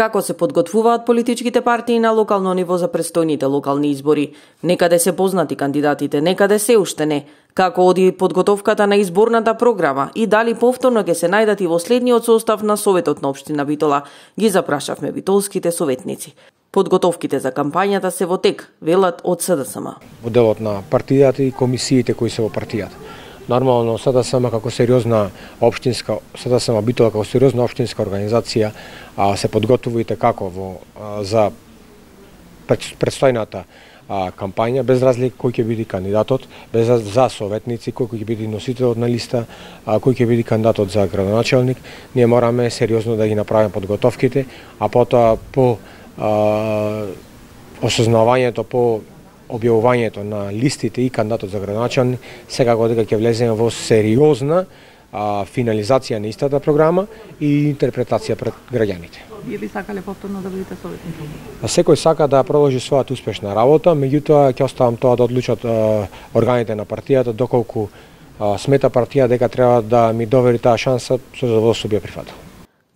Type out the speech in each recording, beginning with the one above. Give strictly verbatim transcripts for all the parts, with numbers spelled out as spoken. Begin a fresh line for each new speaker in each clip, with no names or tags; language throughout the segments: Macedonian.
Како се подготвуваат политичките партии на локално ниво за престојните локални избори? Некаде се познати кандидатите, некаде се уште не. Како оди подготовката на изборната програма и дали повторно ќе се најдат и во следниот состав на Советот на општина Битола, ги запрашавме битолските советници. Подготовките за кампањата се во тек, велат од СДСМ.
Во делот на партијата и комисиите кои се во партијата. Нормално СДСМ како сериозна општинска СДСМ Битола како сериозна општинска организација а, се подготвувајте како во а, за предстојната а, кампања, без разлика кој ќе биде кандидатот, без за советници, кој ќе биде носителот на листа, а, кој ќе биде кандидатот за градоначелник, ние мораме сериозно да ги направиме подготовките, а потоа по а, осознавањето, по објавувањето на листите и кандидатот за градоначелник, секако дека ќе влеземе во сериозна а, финализација на истата програма и интерпретација пред граѓаните.
Вие би сакале повторно да бидете советник?
Секој сака да продолжи својата успешна работа, меѓутоа ќе оставам тоа да одлучат а, органите на партијата, доколку а, смета партија дека треба да ми довери таа шанса, со задоволство би ја прифатил.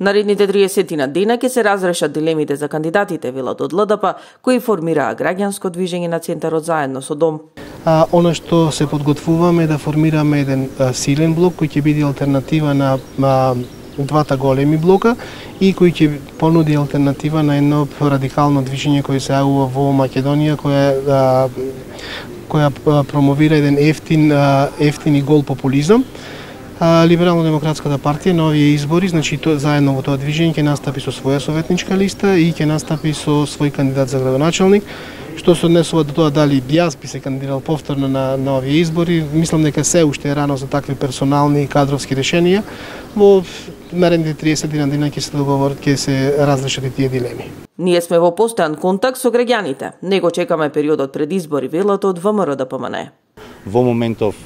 Наредните триесет дена ќе се разрешат дилемите за кандидатите, велат од ЛДП, кои формираа граѓанско движење на центарот заедно со Дом.
А, она што се подготвуваме е да формираме еден а, силен блок кој ќе биде алтернатива на а, двата големи блока и кој ќе понуди алтернатива на едно радикално движење кој се јавува во Македонија, која а, која промовира еден ефтин а, ефтин и гол популизам. Либерално-демократската партија на овие избори, значи то, заедно во тоа движење ќе настапи со своја советничка листа и ќе настапи со свој кандидат за градоначелник. Што се однесува до тоа дали јас би се кандидирал повторно на, на овие избори, мислам дека се уште е рано за такви персонални и кадровски решенија. Во наредните триесет дена ќе се договорат, ќе се разрешат и тие дилеми.
Ние сме во постојан контакт со граѓаните. Него чекаме периодот пред избори, велат од ВМРО Д П М Н.
Во моментов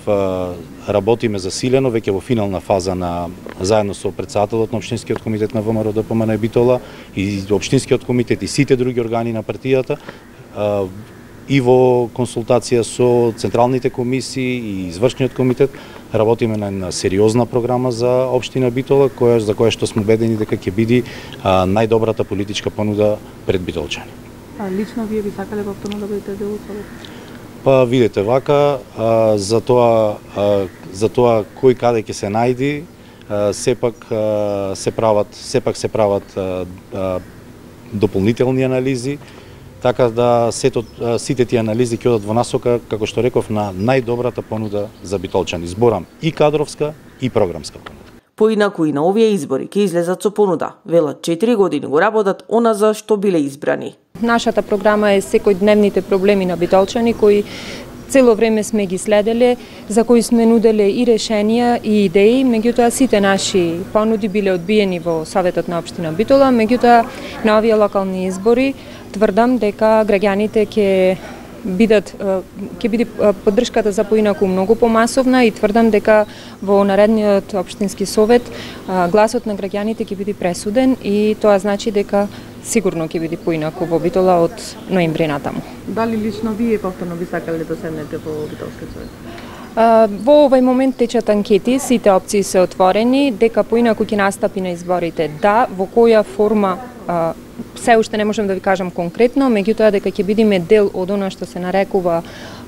работиме засилено, веќе во финална фаза на заедно со претседателот на општинскиот комитет на ВМРО Д П М Н Битола и општинскиот комитет и сите други органи на партијата и во консултација со централните комисии и извршниот комитет работиме на една сериозна програма за општина Битола, која за која што сме убедени дека ќе биде најдобрата политичка понуда пред битолчани.
А лично вие би сакале повторно да бидете дел од Совет?
Па видете вака, а, за тоа а, за тоа кој каде ќе се најди, а, сепак а, се прават сепак се прават а, а, дополнителни анализи, така да сето, а, сите тие анализи ќе одат во насока, како што реков, на најдобрата понуда за битолчани. Зборам и кадровска и програмска понуда.
Поинаку и на овие избори ќе излезат со понуда. Велат четири години го работат она за што биле избрани.
Нашата програма е секојдневните проблеми на битолчани кои цело време сме ги следеле, за кои сме нуделе и решенија и идеи, меѓутоа сите наши понуди биле одбиени во Советот на општина Битола, меѓутоа на овие локални избори тврдам дека граѓаните ќе бидат ќе биде поддршката за поинаку многу помасовна и тврдам дека во наредниот општински совет гласот на граѓаните ќе биде пресуден и тоа значи дека сигурно ќе биде поинаку во Битола од ноември натаму.
Дали лично вие повторно би сакале да седнете во Битолскиот совет?
Во овој момент течат анкети, сите опции се отворени, дека поинаку ќе настапи на изборите. Да, во која форма се уште не можам да ви кажам конкретно, меѓутоа дека ќе бидеме дел од она што се нарекува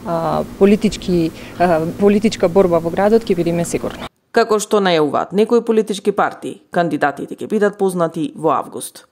а, политички, а, политичка борба во градот, ќе бидеме сигурно.
Како што најавуваат некои политички партии, кандидатите ќе бидат познати во август.